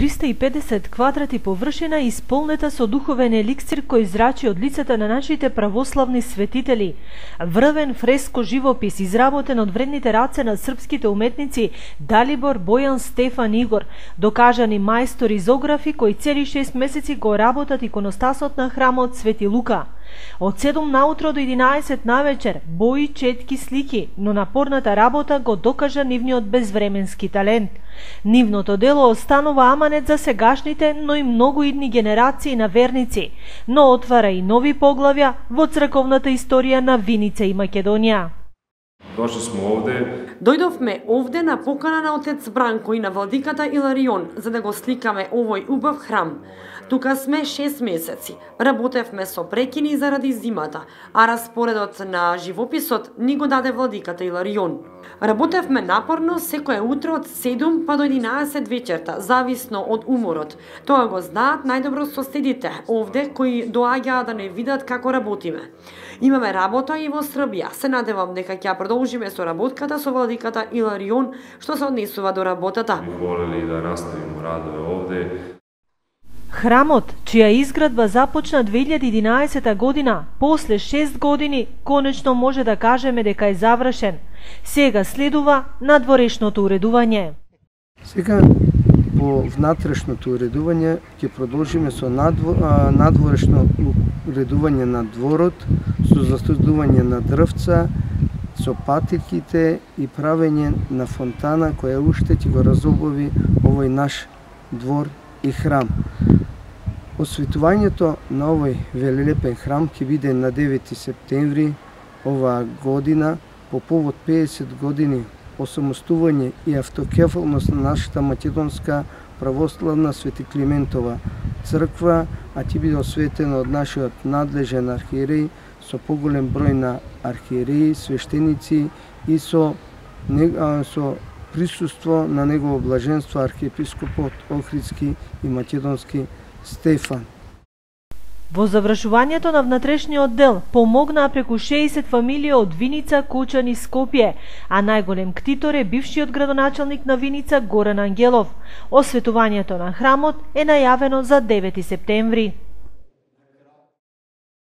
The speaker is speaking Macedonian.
350 квадрати површина исполнета со духовен еликсир кој зрачи од лицата на нашите православни светители. Врвен фреско живопис изработен од вредните раце на српските уметници Далибор, Бојан, Стефан, Игор, докажани мајстори изографи кои цели 6 месеци го работат иконостасот на храмот Свети Лука. Од 7 наутро до 11 навечер, бои, четки, слики, но напорната работа го докажа нивниот безвременски талент. Нивното дело останува аманет за сегашните, но и многу идни генерации на верници, но отвара и нови поглавја во црковната историја на Виница и Македонија. Дојдовме овде на покана на отец Бранко и на владиката Иларион за да го сликаме овој убав храм. Тука сме 6 месеци. Работевме со прекини заради зимата, а распоредот на живописот ни го даде владиката Иларион. Работевме напорно секое утро од 7 па до 11 вечерта, зависно од уморот. Тоа го знаат најдобро соседите овде кои доаѓаат да не видат како работиме. Имаме работа и во Србија. Се надевам дека ќе продолжиме со работката со владиката Иларион што се однесува до работата. Волели да наставиме радове овде. Храмот, чија изградба започна 2011 година, после 6 години, конечно може да кажеме дека е завршен. Сега следува надворешното уредување. Сега по внатрешното уредување ќе продолжиме со надворешно уредување на дворот, со засадување на дрвца, со патиките и правење на фонтана која уште ќе го разобови овој наш двор и храм. Осветувањето на овој велелепен храм ќе биде на 9 септември оваа година по повод 50 години осамостување и автокефалност на нашата македонска православна Свети Климентова црква, а ќе биде осветено од нашиот надлежен архиереј со поголем број на архиереи, свештеници и со присуство на негово блаженство архиепископот Охридски и македонски Стефан. Во завршувањето на внатрешниот дел помогнаа преку 60 фамилии од Виница, Кучан и Скопје, а најголем ктитор е бившиот градоначалник на Виница Горан Ангелов. Осветувањето на храмот е најавено за 9 септември.